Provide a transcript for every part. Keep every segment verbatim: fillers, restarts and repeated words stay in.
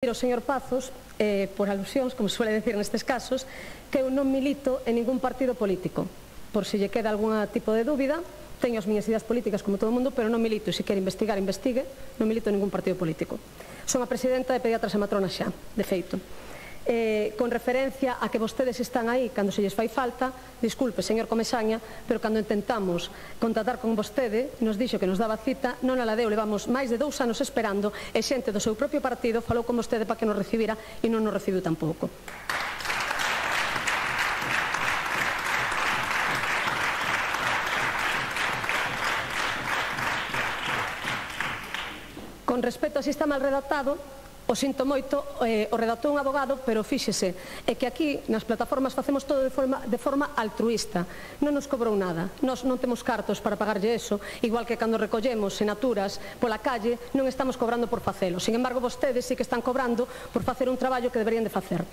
ao señor Pazos, eh, por alusións, como se suele decir nestes casos, que eu non milito en ningún partido político. Por se lle queda algún tipo de dúbida, teño as miñas ideas políticas como todo o mundo, pero non milito, e se quere investigar, investigue, non milito en ningún partido político. Son a presidenta de Pediatras e Matronas xa, de feito. Eh, con referencia a que vostedes están aí cando se lles fai falta, disculpe, señor Comesaña, pero cando intentamos contactar con vostede, nos dixo que nos daba cita, non a la deu, levamos máis de dous anos esperando, e xente do seu propio partido falou con vostede para que nos recibira e non nos recibiu tampouco. Con respecto a si está mal redactado, o sinto moito, eh, o redactou un abogado, pero fíxese, é que aquí nas plataformas facemos todo de forma, de forma altruista, non nos cobrou nada, nós non temos cartos para pagarlle eso, igual que cando recollemos sinaturas pola calle non estamos cobrando por facelo, sin embargo vostedes sí que están cobrando por facer un traballo que deberían de facer.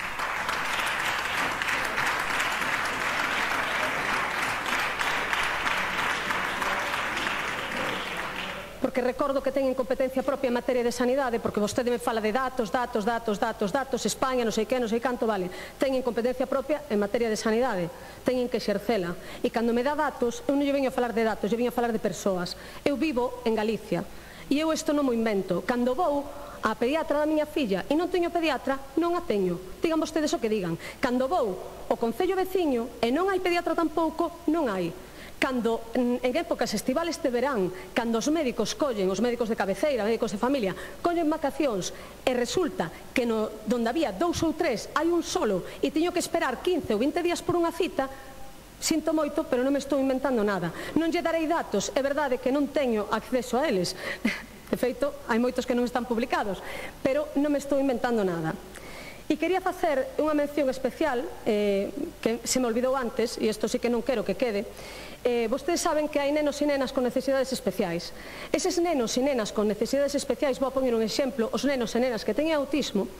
Porque recordo que teñen competencia propia en materia de sanidade, porque vostede me fala de datos, datos, datos, datos, datos, España, non sei que, non sei canto, vale, teñen competencia propia en materia de sanidade, teñen que exercela, e cando me dá datos, eu non lle veño a falar de datos, lle veño a falar de persoas. Eu vivo en Galicia, e eu isto non mo invento, cando vou a pediatra da miña filla e non teño pediatra, non a teño, digan vostedes o que digan, cando vou ao concello veciño e non hai pediatra tampouco, non hai. Cando en épocas estivales de verán, cando os médicos collen, os médicos de cabeceira, médicos de familia, collen vacacións e resulta que no, donde había dous ou tres hai un solo e teño que esperar quince ou vinte días por unha cita, sinto moito, pero non me estou inventando nada. Non lle darei datos, é verdade que non teño acceso a eles, de feito, hai moitos que non están publicados, pero non me estou inventando nada. E quería facer unha mención especial, eh, que se me olvidou antes, e isto sí que non quero que quede. Eh, vostedes saben que hai nenos e nenas con necesidades especiais. Eses nenos e nenas con necesidades especiais, vou a poñer un exemplo, os nenos e nenas que teñen autismo,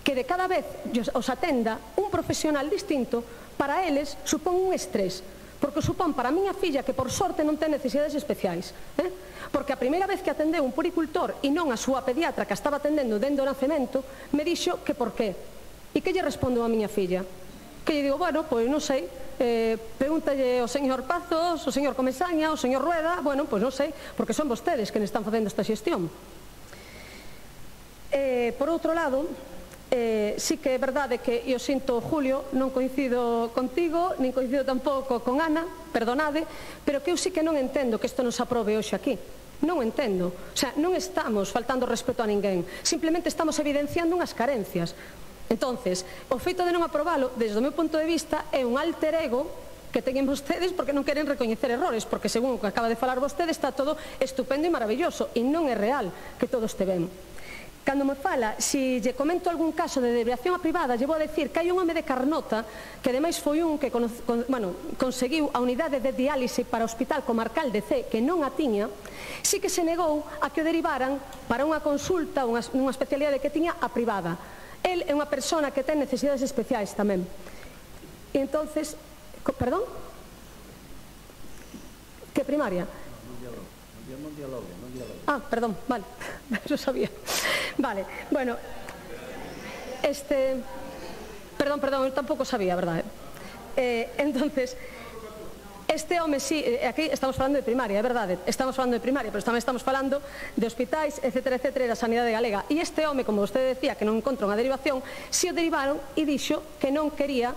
que de cada vez os atenda un profesional distinto, para eles supón un estrés, porque supón para a miña filla que por sorte non ten necesidades especiais, eh? Porque a primeira vez que atendeu un puricultor e non a súa pediatra que a estaba atendendo dende o nacemento, me dixo que por qué. E que lle respondo a miña filla? Que lle digo, bueno, pois non sei, eh, pregúntalle ao señor Pazos, ao señor Comesaña, ao señor Rueda, bueno, pois non sei, porque son vostedes que están facendo esta xestión. Eh, por outro lado, eh, sí que é verdade que eu sinto, Julio, non coincido contigo, nin coincido tampouco con Ana, perdonade, pero que eu sí que non entendo que isto nos aprobe hoxe aquí. Non entendo, o sea, non estamos faltando respeto a ninguén, simplemente estamos evidenciando unhas carencias. Entonces, o feito de non aprobalo, desde o meu punto de vista, é un alter ego que teñen vostedes porque non queren recoñecer errores, porque según o que acaba de falar vostede está todo estupendo e maravilloso, e non é real que todo este ben. Cando me fala, se lle comento algún caso de desviación a privada, lle vou a decir que hai un home de Carnota, que ademais foi un que con, con, bueno, conseguiu a unidade de diálise para o Hospital Comarcal de Cee, que non a tiña, sí que se negou a que o derivaran para unha consulta, unha, unha especialidade que tiña a privada. El é unha persona que ten necesidades especiais tamén. E entonces, perdón? Que primaria? Non dialogue, non dialogue. Ah, perdón, vale, eso sabía. Vale, bueno, este... Perdón, perdón, eu tampouco sabía, verdade? Eh, entonces... Este home, sí, aquí estamos falando de primaria, é verdade, estamos falando de primaria, pero tamén estamos falando de hospitais, etcétera, etcétera, da sanidade galega. E este home, como vostede decía, que non encontra unha derivación, si o derivaron e dixo que non quería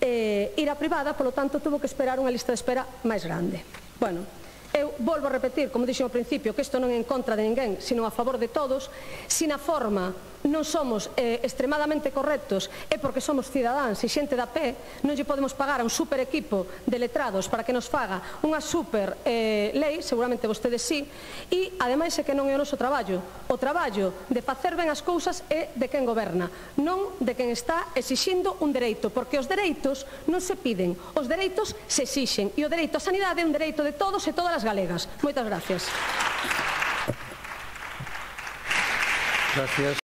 eh, ir á privada, polo tanto, tuvo que esperar unha lista de espera máis grande. Bueno, eu volvo a repetir, como dixo ao principio, que isto non é en contra de ninguén, sino a favor de todos. Se na forma non somos eh, extremadamente correctos é porque somos cidadáns e xente da pé, non lle podemos pagar a un super equipo de letrados para que nos faga unha super eh, lei, seguramente vostedes sí, e ademais é que non é o noso traballo. O traballo de facer ben as cousas é de quen goberna, non de quen está exixindo un dereito, porque os dereitos non se piden, os dereitos se exixen, e o dereito á sanidade é un dereito de todos e todas as galegas. Moitas gracias. Gracias.